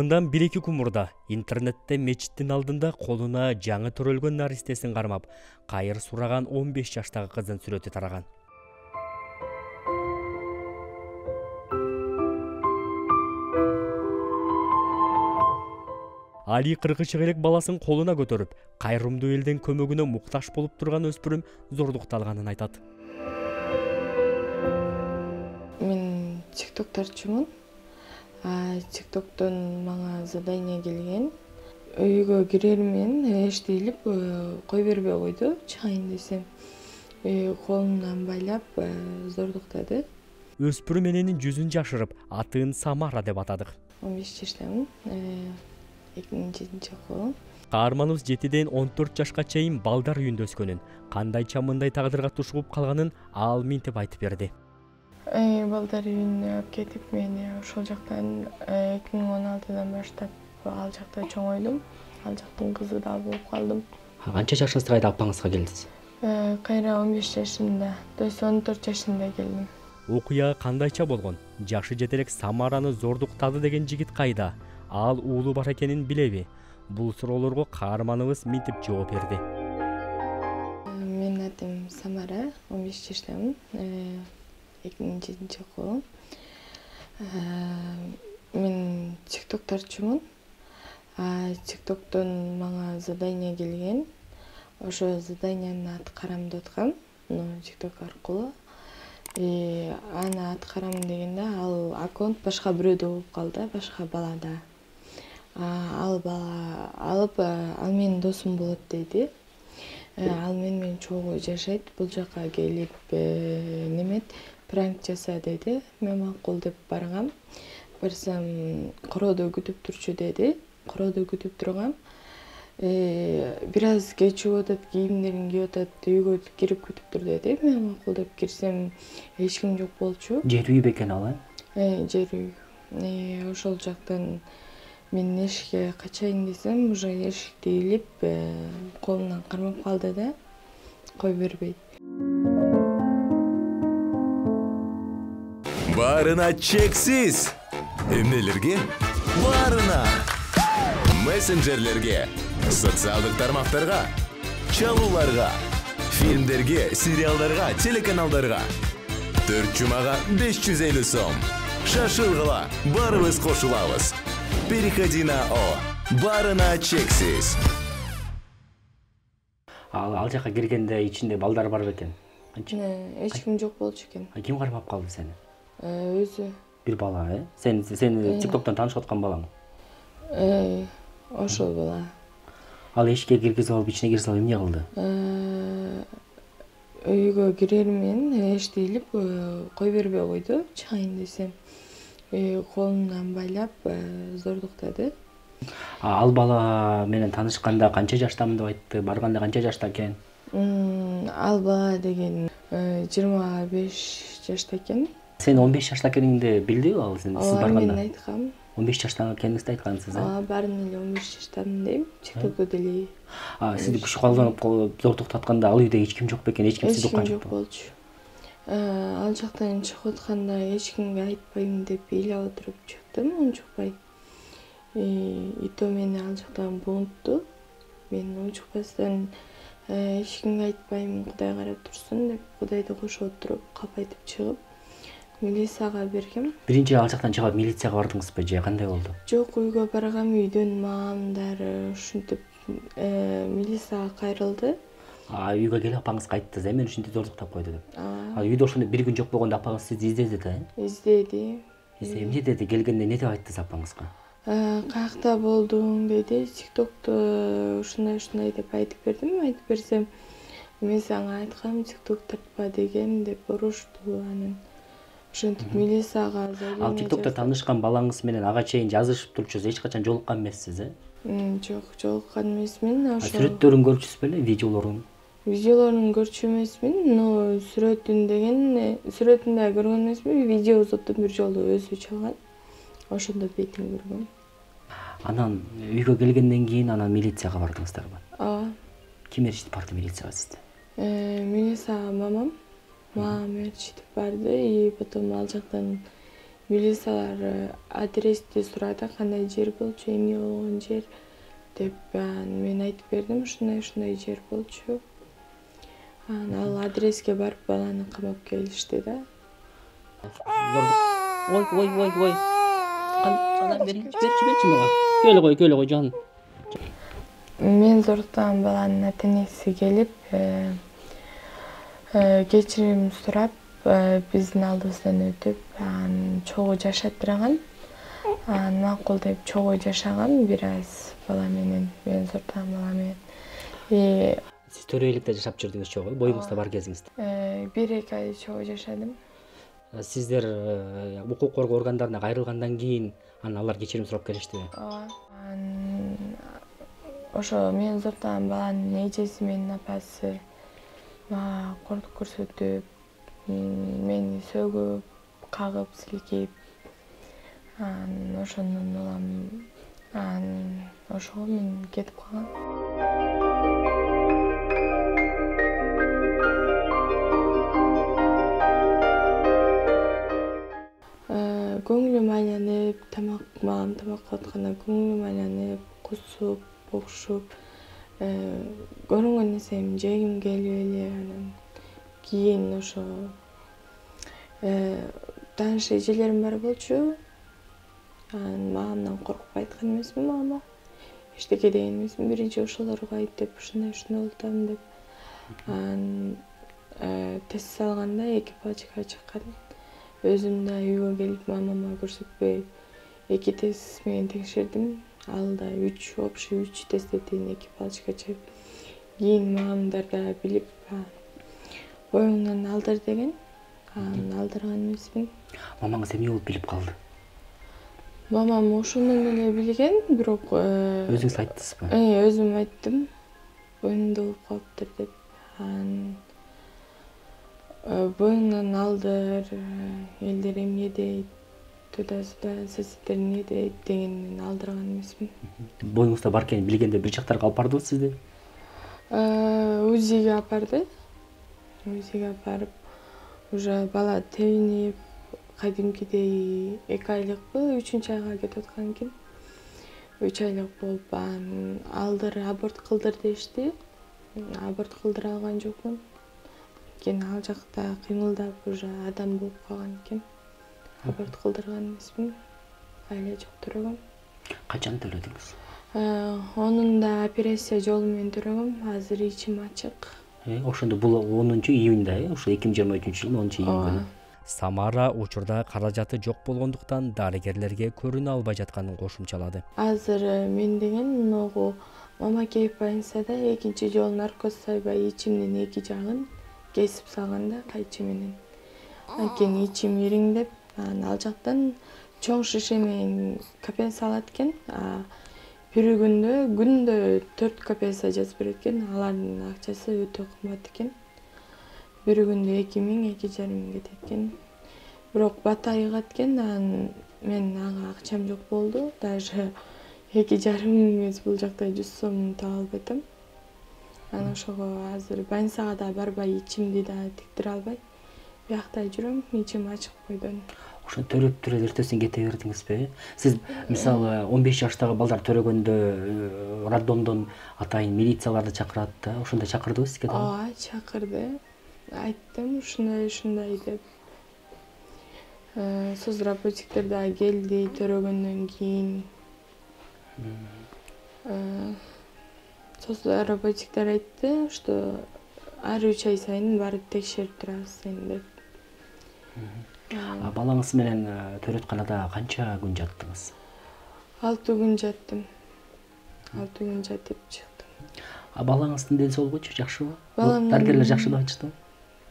Мындан 1-2 күн мурда интернетте мечиттин алдында колуна жаңы төрөлгөн наристесин кармап, кайыр сураган 15 жаштагы кыздын сүрөтү тараган. Али 40 элек баласын колуна көтөрүп, кайрымдуу элдин көмөгүнө муктаж болуп турган өспүрүм зордукталганын айтат. Мен тиктоктарчумун. Тиктоктон мага задание келген. Үйгө кирермен эштелип кой бербей койду. Чыгайын десем, колумдан байлап зордуктады. Өспүрүм эненин жүзүн жашырып, атын Самара деп атадык. 15 жаштамын. 2007-окуу. Каарманыбыз 7ден 14 жашка чейин балдар үйүндө өскөнүн, кандайча мындай тагдырга тушугуп калганын ал минтип айтып берди. Балдар үйүнө алып кетип, мени ошол жактан 2016-дан баштап ал жакта чоңойдум. Ал жактын кызы да болуп калдым. Канча жашыңызда кайда апаңызга келдиз? Кайра 15 жашымда, то есть 14 жашымда келдим. Окуя кандайча болгон? Жашы жете элек Самараны зордуктады деген жигит кайда? Ал уулу бар экенин билеби? Бул суроолорго каарманыбыз минтип жооп берди. Менин атым Самара, 15 жаштамын. 2007-окуу. Мен тиктоктарчумун. Тиктоктон мага задание келген. Ошо заданиянын аткарам деп аткам. Тикток аркылуу. Аны аткарам дегенде ал аккаунт башка бирөөдө болуп калды, башка балада. Ал бала алып, ал менин досум болот деди. Ал менен чогуу жашайт, бул жака келип немет, пранк жаса деди. Мен макул деп баргам. Барсам, короодо күтүп турчу деди. Короодо күтүп тургам. Бир аз кечип атат, кийимдерин кийип атат, үйгө кирип күтүп тур деди. Мен макул деп кирсем, эч ким жок болчу. Жер үй бекен ал, Жер үй. Ошол жактан мен эшикке качайын десем, уже эшикти илип, колумдан кармап калды да, кой бербейт. Барына чексиз. Эмнелерге? Барына. Мессенджерлерге, социалдык тармактарга, чалууларга, фильмдерге, сериалдарга, телеканалдарга. 4 жумага 550 сом. Шашылгыла, барыбыз кошулабыз. Переходи на О. Барына чексиз. Ал жака киргенде ичинде балдар бар бекен? Эч ким жок болчу экен. Ким кармап калды сени? Өзү. Бир бала, Сени тиктоктон таанышып аткан балаң? Ошол бала. Ал эшикке киргизип алып, ичине кире салып эмне кылды? Үйгө кирермен эштелип кой бербей койду. Чыгайын десем, колумдан байлап зордуктады. Ал бала менен таанышканда канча жаштамын деп айтты? Барганда канча жашта экен? Ал бала деген 25 жашта экен. Сен 15 жашта экениңди билдиби ал сиз барганда? Мен айткам. 15 жашта экениңизди айткансыз, Баарын эле 15 жаштамын дейм, тиктокто деле. Сизди күч колдонуп зордуктатканда ал үйдө эч ким жок бекен? Эч ким сизди уккан жок болчу. Ал жактан чыгып атканда эч кимге айтпайм деп ыйлап отуруп чыктым, унчукпай. И то мени ал жактан бунтту. Мен унчукпастан эч кимге айтпайм, Кудай карап турсун деп, Кудайды кошо отуруп, капайтып чыгып, милицияга бергем. Биринчи ал жактан чыгып милицияга бардыңызбы же кандай болду? Жок, үйгө баргам, үйдөн маамдары ушинтип милицияга кайрылды. Үйгө келип апаңызга айттыңыз, мен ушинтип зордуктап койду деп. Үйдө ошондо бир күн жок болгондо апаңыз сизди издеди да? Издеди. Эмне деди? Келгенде не деп айттыңыз апаңызга? Каякта болдуң деди. Тиктокто ушундай деп айтып бердим. Айтып берсем, мен сага айткам, тикток тартпа деген деп урушту анан. Ошентип милицияга заявление. Ал тиктокто таанышкан балаңыз менен ага чейин жазышып турчусуз, эч качан жолуккан эмессиз, Жок, жолуккан эмесмин. Сүрөттөрүн көрчүсүз беле, видеолорун? Видеолорун көрчү эмесмин, но сүрөтүндө көргөн эмесмин, видеосун бир жолу өзү чалган. Ошондо бетин көргөм. Анан үйгө келгенден кийин анан милицияга бардыңыздарбы? Ким ээрчитип барды милицияга сизди? Милицияга мамам. Мама ээрчитип барды, и потом ал жактан милициялар адрести сурады, кандай жер болчу, эмне болгон жер деп. Мен айтып бердим, ушундай жер болчу. Ал адреске барып баланы камап келишти да. Ой. Берчи мага. Келе кой жан. Мен зордуктаган баланын ата-энеси келип, кечирим сурап, биздин алдыбыздан өтүп, чогуу жашаттырган. Макул деп чогуу жашаган бир аз бала менен, мен зордуган бала менен. Сиз төрөйлүктө жашап жүрдүңүз чогуу, боюңузда бар кезиңизде? 1-2 ай чогуу жашадым. Сиздер укук коргоо органдарына кайрылгандан кийин алар кечирим сурап келиштиби? Ооба. Ошо мен зордуган баланын эжеси менен апасы мага кордук көрсөтүп, мени сөгүп, кагып, силкейип, ошондон улам ошого мен кетип калгам. Көңүлүм айланып, мамам тамакка атканда көңүлүм айланып, кусуп, окшуп, көрүнгөн нерсем жегим келип эле, анан кийин ошо тааныш эжелерим бар болчу. Мамамдан коркуп айткан эмесмин мамама. Эчтеке деген эмесмин, биринчи ошолорго айт деп, ушундай болуп атам деп. Тест салганда 2 палочка чыккан. Өзүм да үйгө келип мамама көрсөтпөй 2 тест менен текшердим. Ал да общий 3 тесттен 2 палочка чыгып. Кийин мамамдар да билип, боюңдан алдыр деген. Алдырган эмесмин. Мамаңыз эмне болуп билип калды? Мамам ошондон эле билген, бирок өзүңүз айттыңызбы? Өзүм айттым. Боюңда болуп калыптыр деп. Боюңдан алдыр, элдер эмне дейт, туда-сюда, соседдер эмне дейт дегенден алдырган эмесмин. Боюңузда бар экенин билгенде бир жактарга алып бардыбы сизди? УЗИге апарды. УЗИге апарып, уже бала тебинип, кадимкидей 2 айлыкпы, 3-айга кетип аткан экен. 3 айлык болуп, алдыр, аборт кылдыр дешти. Аборт кылдыра алган жокмун. Ал жакта кыймылдап уже адам болуп калган экен. Аборт кылдырган эмесмин. Айла жок төрөгөм. Качан төлөдүңүз? Онун да операция жолу менен төрөгөм. Азыр ичим ачык. Ошондо бул 10-июнда, ошо 2023-жылдын 10-июнь күнү. Самара учурда каражаты жок болгондуктан дарыгерлерге көрүнө албай жатканын кошумчалады. Азыр мен деген могу мамакеев больницада 2 жолу наркоз сайбай ичимдин 2 жагын кесип салганда кайчы менен. Анткени ичим ириңдеп, ал жактан чоң шише менен капельница алат экен. Бир күндө 4 капельница жазып берет экен. Алардын акчасы өтө кымбат экен. Бир күндө 2000-2,5 миң кетет экен. Бирок бат айыгат экен. Мен ага акчам жок болду. Даже 2,5 миң эмес, бул жакта 100 сом таба албай атам. Анан ошого азыр больницага да барбай, ичимди да тиктире албай. Биякта жүрөм, ичим ачык бойдон. Ошо төрөп туруп эртесин кете бердиңизби? Сиз мисалы 15 жаштагы балдар төрөгөндө роддомдон атайын милицияларды чакырат да, ошондой чакырдыбы сизге да? Ооба, чакырды. Айттым ушундай деп. Соцработниктер да келди төрөгөндөн кийин. Соцработниктер айтты, что ар 3 ай сайын барып текшерип турабыз сени деп. Балаңыз менен төрөтканада канча күн жаттыңыз? 6 күн жаттым. 6 күн жатып чыктым. Балаңыздын ден соолугучу жакшыбы? Дарыгерлер жакшы деп айтыштыбы?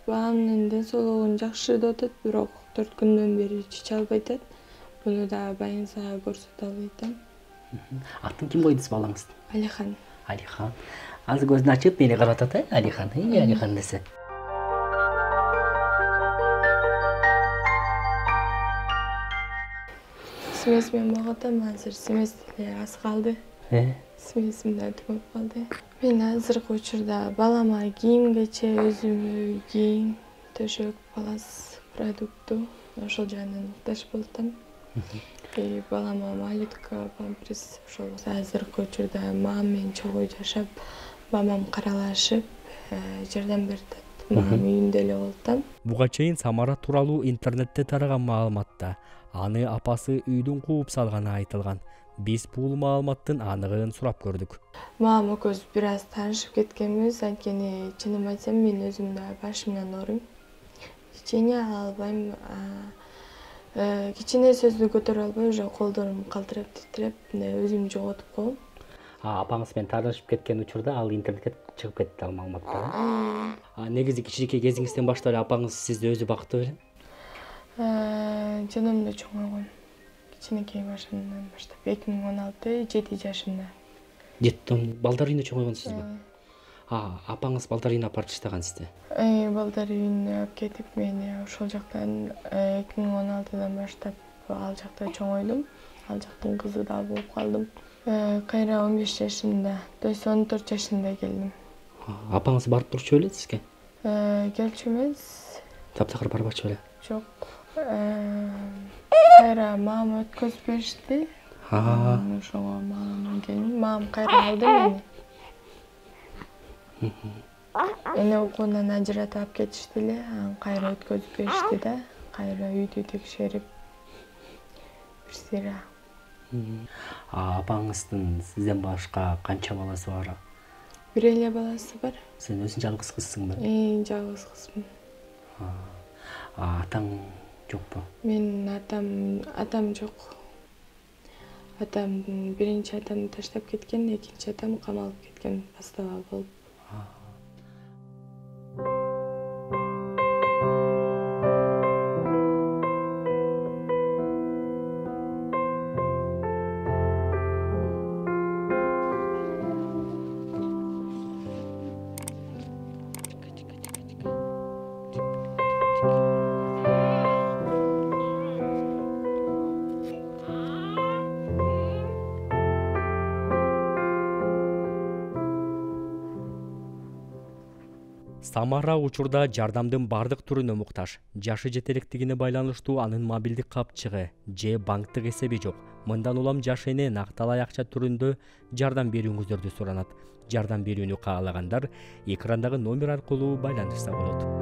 Баламдын ден соолугун жакшы деп атат, бирок 4 күндөн бери чече албай атат. Буну да больницага көрсөтө албай атам. Атын ким койду балаңыздын? Алихан. Алихан. Азыр көзүн ачып мени карап атат, Алихан. Алихан десе. Смесмен багатам, азыр смес деле аз калды. Смесим да түгөп калды. Мен азыркы учурда балама кийим кече, өзүмө кийим, төшөк, палас, продукту ошол жагынан муктаж болуп атам. Балама малютка, памперс, ошол азыркы учурда мамам менен чогуу жашап, мамам каралашып, жардам берип атат. Мамам үйүндө эле болуп атам. Буга чейин Самара тууралуу интернетте тараган маалыматта аны апасы үйдүн кууп салганы айтылган. Биз бул маалыматтын аныгын сурап көрдүк. Мамам экөөбүз бир аз таанышып кеткенбиз, анткени чынын айтсам мен өзүм да башымдан ооруйм. Кичине ала албайм. Кичине сөздү көтөрө албай, уже колдорум калтырап, титиреп, өзүмдү жоготуп коем. Апаңыз менен таанышып кеткен учурда ал интернетке чыгып кетти ал маалыматтар. Негизи кичинекей кезиңизден баштап эле апаңыз сизди өзү бактты беле? Жанымда чоңойгон. Кичинекей башымдан баштап 2016 7 жашымда. Жеттон балдар үйүнө чоңойгонсузбу? Апаңыз балдар үйүнө апарып таштаган сизди? Балдар үйүнө алып кетип, мени ошол жактан 2016-дан баштап ал жакта чоңойдум. Ал жактын кызы да болуп калдым. Кайра 15 жашымда, то есть 14 жашымда келдим. Апаңыз барып турчу беле сизге? Келчү эмес. Таптакыр барбачу беле? Жок. Кайра мамам өткөзүп беришти. Ошого мамам келдим. Мамам кайра алды мени. Эне окуунан ажыратып алып кетишти эле, анан кайра өткөзүп беришти да, кайра үйдү текшерип бир сыйра. Апаңыздын сизден башка канча баласы бар? Бир эле баласы бар. Сен өзүң жалгыз кызсыңбы? Жалгыз кызмын. Атаң жокпу? Менин атам жок. Атам биринчи атамды таштап кеткен, экинчи атам камалып кеткен бастава болуп. Самара учурда жардамдын бардык түрүнө муктаж. Жашы жете электигине байланыштуу анын мобилдик капчыгы же банктык эсеби жок. Мындан улам жаш эне накталай акча түрүндө жардам берүүңүздөрдү суранат. Жардам берүүнү каалагандар экрандагы номер аркылуу байланышса болот.